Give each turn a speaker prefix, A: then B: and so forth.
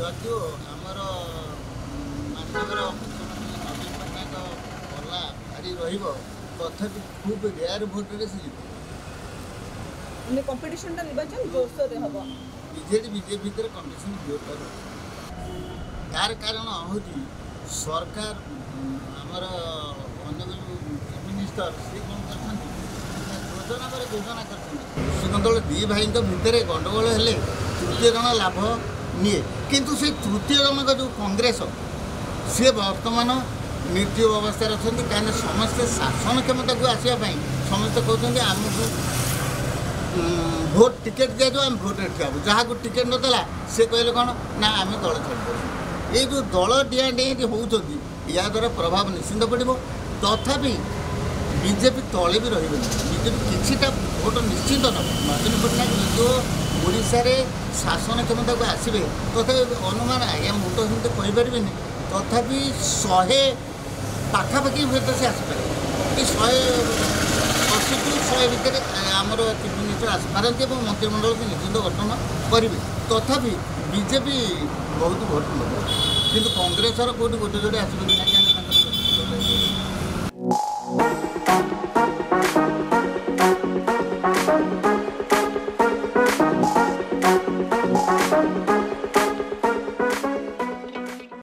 A: ଯଦିଓ ଆମର ମାନ୍ୟବର ମୁଖ୍ୟମନ୍ତ୍ରୀ ନବୀନ ପଟ୍ଟନାୟକ ପଲ୍ଲା ଭାରି ରହିବ, ତଥାପି ଖୁବ୍ ରେୟାର ଭୋଟରେ ସେ ଜିତିବେ।
B: ମାନେ କମ୍ପିଟିସନଟା ନିର୍ବାଚନ ଜୋରସୋରରେ ହବ।
A: ବିଜେଡି ବିଜେପି ଭିତରେ କମ୍ପିଟିସନ୍ ଜୋରଦାର ଅଛି। ତାର କାରଣ ହେଉଛି ସରକାର, ଆମର ଅନରେବଲ ଚିଫ୍ ମିନିଷ୍ଟର, ସିଏ କ'ଣ କରିଛନ୍ତି ନା ଯୋଜନା ପରେ ଯୋଜନା କରିଛନ୍ତି। କୃଷକ ଦୁଇ ଭାଇଙ୍କ ଭିତରେ ଗଣ୍ଡଗୋଳ ହେଲେ ତୃତୀୟ ଜଣ ଲାଭ ନିଏ, କିନ୍ତୁ ସେ ତୃତୀୟ ଜଣକ ଯେଉଁ କଂଗ୍ରେସ, ସିଏ ବର୍ତ୍ତମାନ ନିର୍ଜୀବ ଅବସ୍ଥାରେ ଅଛନ୍ତି। କାହିଁକିନା ସମସ୍ତେ ଶାସନ କ୍ଷମତାକୁ ଆସିବା ପାଇଁ ସମସ୍ତେ କହୁଛନ୍ତି ଆମକୁ ଭୋଟ ଟିକେଟ୍ ଦିଆଯାଉ, ଆମେ ଭୋଟରେ ଠିଆ ହେବୁ। ଯାହାକୁ ଟିକେଟ୍ ନଦେଲା ସେ କହିଲେ କ'ଣ ନା ଆମେ ଦଳ ଛାଡ଼ିଦେବୁ। ଏଇ ଯେଉଁ ଦଳ ଡିଆଁ ଡିଆଁ ହେଉଛନ୍ତି, ୟା ଦ୍ୱାରା ପ୍ରଭାବ ନିଶ୍ଚିନ୍ତ ପଡ଼ିବ। ତଥାପି ବିଜେପି ତଳେ ବି ରହିବେନି, ବିଜେପି କିଛିଟା ଭୋଟ ନିଶ୍ଚିନ୍ତ ନେବ। ନବୀନ ପଟ୍ଟନାୟକ ଯଦିଓ ଓଡ଼ିଶାରେ ଶାସନ କ୍ଷମତାକୁ ଆସିବେ, ତଥାପି ଅନୁମାନ ଆଜ୍ଞା ମୁଁ ତ ସେମିତି କହିପାରିବିନି, ତଥାପି 100 ପାଖାପାଖି ହୁଏତ ସେ ଆସିପାରିବେ କି 180 ଟୁ 100 ଭିତରେ ଆମର ଚିଫ୍ ମିନିଷ୍ଟର ଆସିପାରନ୍ତି ଏବଂ ମନ୍ତ୍ରିମଣ୍ଡଳକୁ ନିଶ୍ଚିନ୍ତ ଗଠନ କରିବେ। ତଥାପି ବିଜେପି ବହୁତ ଭୋଟ ନେବ, କିନ୍ତୁ କଂଗ୍ରେସର କେଉଁଠି ଗୋଟେ ଯୋଡ଼େ ଆସିବ କି ନାହିଁ।